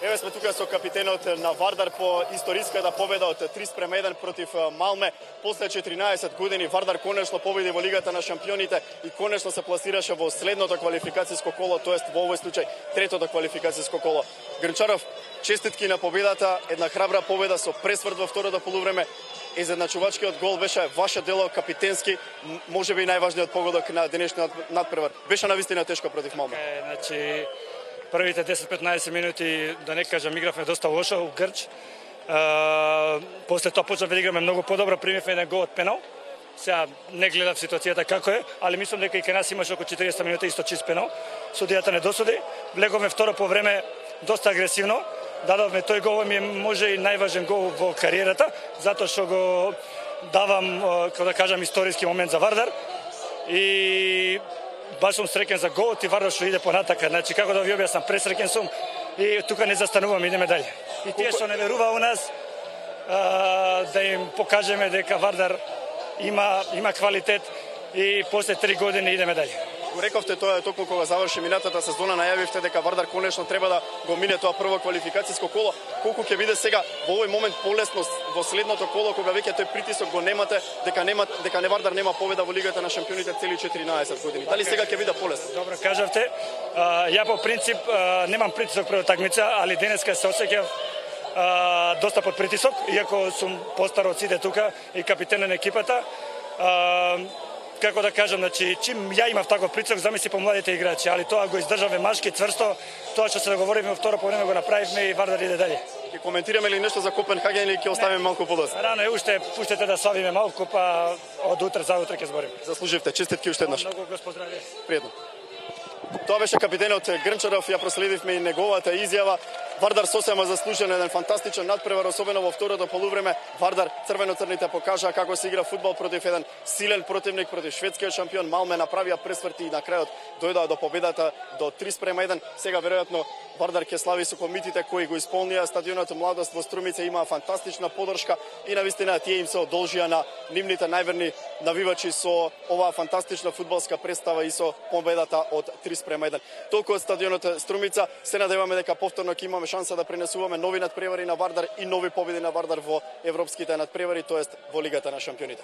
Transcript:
Еве сме тука со капитенот на Вардар по историската победа од 3:1 против Малме. После 14 години Вардар конечно победи во Лигата на шампионите и конечно се пласираше во следното квалификацијско коло, тоест во овој случај третото квалификацијско коло. Грнчаров, честитки на победата, една храбра победа со пресврт во второто полувреме. Изедначувачкиот гол беше ваше дело капитенски, можеби најважниот погодок на денешниот надпревар. Беше навистина тешко против Малме. Значи, првите 10-15 минути, да не кажам, игравме доста лошо у Грч. После тоа почнавме да играме многу подобро, примивме еден гол од пенал. Сега не гледав ситуацијата како е, али мислам дека и кај нас имаше околу 40 минути исто чист пенал. Судијата не досуди. Влеговме второ по време доста агресивно. Дадовме тој гол, ми е може и најважен гол во кариерата, затоа што го давам, како да кажам, историски момент за Вардар. И баш сум среќен за голот и Вардар што иде понатака. Значи, како да ви објаснам, пресреќен сум и тука не застануваме, идеме дале. И тие што не верува у нас, да им покажеме дека Вардар има квалитет и после 3 години идеме дале. Го рековте тоа токму кога заврши минатата сезона, најавивте дека Вардар конечно треба да го мине тоа прво квалификацијско коло. Колку ќе биде сега во овој момент полесно во следното коло кога веќе тој притисок го немате, дека не Вардар нема победа во Лигата на шампионите цели 14 години. Дали сега ќе биде полесно? Добро кажавте. Ја по принцип немам притисок пред такмица, али денеска се осеќав доста под притисок, иако сум постар од сите тука и капитен на екипата. Како да кажам, значи, чим ја имав таков притисок, замисли по младите играчи, али тоа го издржавме машки, цврсто, тоа што се договоривме во второ полувреме го направивме и Вардар иде дале. Ќе коментираме ли нешто за Копенхаген или ќе оставиме малку подоцна? Рано е уште, пуштете да славиме малку, па од утре за утре ќе збориме. Заслуживте, честитки уште еднаш. Многу го поздравив. Пријатно. Тоа беше капитенот Грнчаров, ја проследивме и неговата изјава. Вардар сосема заслужен еден фантастичен надпревар, особено во второто полувреме. Вардар црвено-црните покажаа како се игра фудбал против еден силен противник, против шведскиот шампион. Малме направија пресврти и на крајот дојдоа до победата до 3:1. Сега веројатно Вардар ќе слави со комитите кои го исполнија стадионот Младост во Струмица, имаа фантастична поддршка и навистина тие им се одолжија на нивните најверни навивачи со оваа фантастична фудбалска представа и со победата од 3:1. Толку од стадионот Струмица, се надеваме дека повторно ќе имаме шанса да пренесуваме нови надпревари на Вардар и нови победи на Вардар во европските надпревари, тоест во Лигата на шампионите.